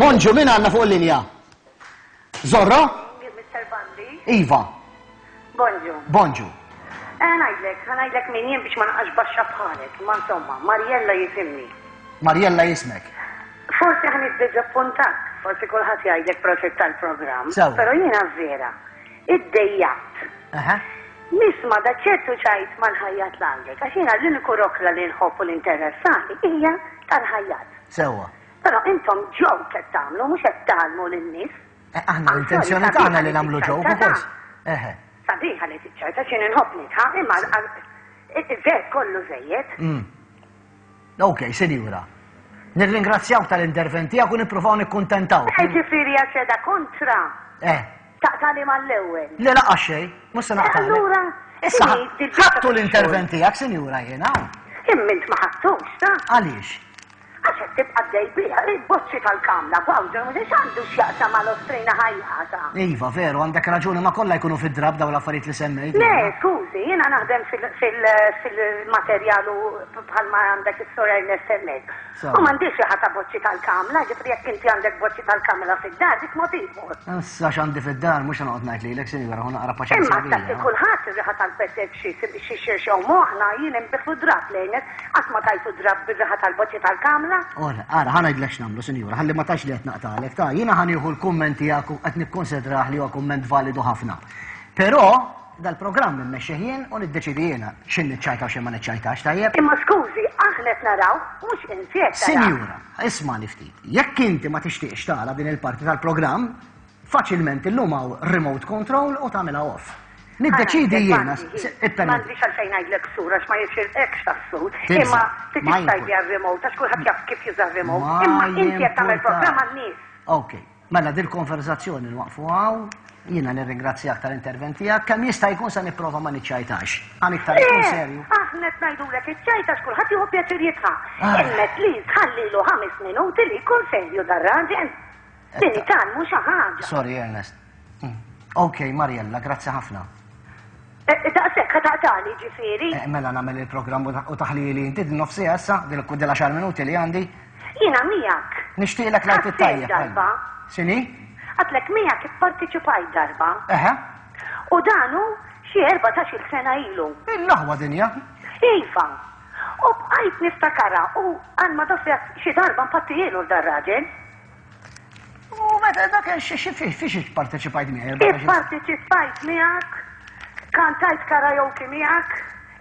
Bonġu, min għandna fuq il-linja? Zorro? Mr. Bandi. Iva. Bonġu. Bonġu. Eh, ngħidlek, ngħidlek min jien biex ma naqax baxxa bħalek, ma insomma, Mariella jisimni. Mariella jismek. Forsi ħa niddiżappuntak, forsi kulħadd jgħidlek prosit tal-programm, però jiena vera, iddejjaqt. Nisma' da ċertu ċajt mal-ħajjat l-għandek, għax jiena l-uniku rokla li nħobb u li interessani hija tal-ħajjat. Sewwa. Però intom joke qed tagħmlu, mhux qed tgħallmu lin-nies. Eh, aħna l-intenzjoni tagħna li nagħmlu joke ukoll. Eħe. Sabiħa li tiċċajta x'in inħobb nidħaq, imma ver kollu żejjed. Mm. Ok, sinjura. Nirringrazzjawk tal-intervent tiegħek u nippruvaw nikkuntentaw. Eh, ġifieri għax qiegħda kontra. Eh. Taqtali mal-ewwel. Le laqgħa xejn, mhux se naqtali. Allura, issa ħadtu l-intervent tiegħek, sinjura jiena. Imma int ma ħadtux, ta? Għaliex? Għax qed tibqa' għaddej biha, il-boċċi tal-kamla, Bowser, mhux għandu x'jaqsam mal-ostrina ħajjata. Iva, veru, għandek raġuni, ma kollha jkunu fid-drapp dawn l-affarijiet li semmejt. Le, skużi, jiena naħdem fil-materjal u bħalma għandek is-Sur Ernest hemmhekk. U m'għandix riħa ta' boċċi tal-kamla, ġifieri jekk inti għandek boċċi tal-kamla fid-dar, dik mod ieħor. Issa x'għandi fid-dar, mhux se noqgħod ngħid lilek, sinjura, ħu naqra paċenzja. Imma tagħti kulħadd ir-riħa tal-petek xi xi xi moħħna jien inbiħlu drapp lejnek. Qatt ma tajtu drapp bir-riħa tal-boċċi tal-kamla? Ora, ara, ħa ngħidlek x'nagħmlu, sinjura, ħalli ma tgħidx li qed naqtagħlek, ta' jiena ħa nieħu l-kumment tiegħek u qed nikkonsidrah li huwa kumment validu ħafna. Però dal-programm immexxih jien u niddeċiedi jiena x'in niċċajta u x'in ma niċċajtax, tajjeb? Imma skużi, aħna qed naraw, mhux inti qed tara. Sinjura, ismagħni ftit. Jekk inti ma tixtieqx tara din il-parti tal-programm, Faċilment illum hawn remote control u tagħmilha off. Niddeċiedi jiena. M'għandix għalfejn ngħidlek sur għax ma jixirqekx tas-sur. Imma tridx tgħidli għar-remote għax kulħadd jaf kif juża r-remote. Imma inti qed tagħmel programm għan-nies. Ok. Mela dil-konverżazzjoni nwaqfu hawn. Jiena nirringrazzjak tal-intervent tiegħek. Kemm jista' jkun se nipprova ma niċċajtax. Għan iktar ikun serju. Aħna qed ngħidulek iċċajta għax kulħadd jieħu pjaċir jidħaq. Imma at least ħallilu ħames minuti li jkun serju dar-raġel. Li nitgħallmu xi ħaġa. Sorry, Ernest. Mm. Ok, Mariella, grazzi ħafna. Eh, eh, daqshekk ħa taqtali ġifieri. Eh, mela nagħmel il-programm u taħlili inti din nofsija issa, din għaxar minuti li għandi. Jiena miegħek. Nixtieqlek lajt it-tajjeb. Darba. X'inhi? Għatlek miegħek ipparteċipajt darba. Eħe. U danu xi 14-il sena ilu. Il-laħwa dinja. Iva. U bqajt niftakarha u għal ma xi darba npattijielu l-dar-raġel. U meta dak xi fiex ipparteċipajt miegħi? Ipparteċipajt miegħek, kantajt karaoke miegħek,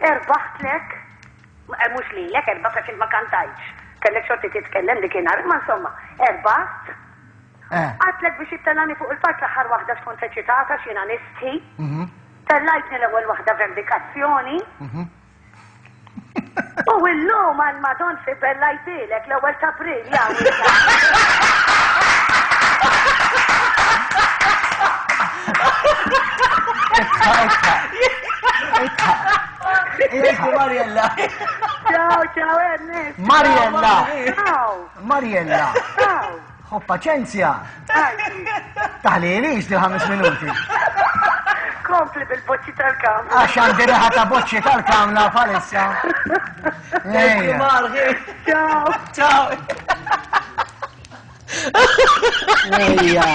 erbaħtlek, eh, mhux lilek, erbaħt għax ma kantajtx. Kellek xorti titkellem dik inhar, imma insomma, erbaħt. Eh. Għatlek biex ittellani fuq il-park l-aħħar waħda x'kont eċitata x'jiena nistħi. Mhm. Tellajtni l-ewwel waħda vendikazzjoni. Mhm. U illum għal Madon fi bellajtilek l-ewwel ta' April jaw. Mariella. Ciao, ciao Ernest. Mariella. Ciao. Mariella. Ciao. Ħu paċenzja. Taħlilix li ħames minuti. Kompli bil-boċċi tal-kamra. Għax għandi riħa ta' boċċi tal-kamra palissa. Ciao. Ciao. Ejja.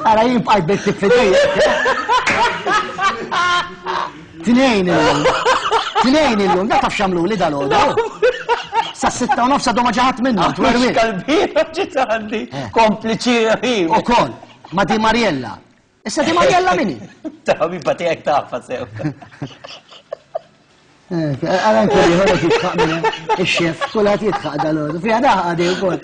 Ara jien bqajt bit fidejja. Tnejn illum. Tnejn illum, da taf xamlu li dal-għodu. Sa sitta u nofsa doma ġaħat minnu. Twerwi. Kalbira ġiet għandi. Eh. Kompliċi. U kol, ma di Mariella. Issa di Mariella minni. Ta' ħabiba tiegħek tafa sew. Eh, għara anke li ħolok jitħaq minn ix-xef, kulħadd jitħaq dal-għodu. Fiha daħqa di wkoll.